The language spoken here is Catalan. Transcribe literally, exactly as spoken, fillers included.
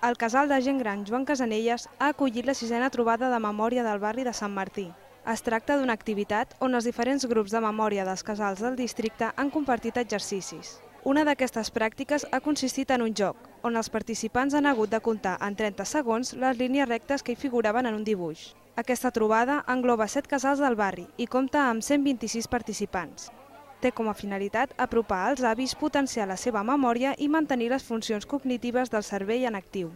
El casal de gent gran Joan Casanelles ha acollit la sisena trobada de memòria del barri de Sant Martí. Es tracta d'una activitat on els diferents grups de memòria dels casals del districte han compartit exercicis. Una d'aquestes pràctiques ha consistit en un joc, on els participants han hagut de comptar en trenta segons les línies rectes que hi figuraven en un dibuix. Aquesta trobada engloba set casals del barri i compta amb cent vint-i-sis participants. Té com a finalitat apropar als avis, potenciar la seva memòria i mantenir les funcions cognitives del cervell en actiu.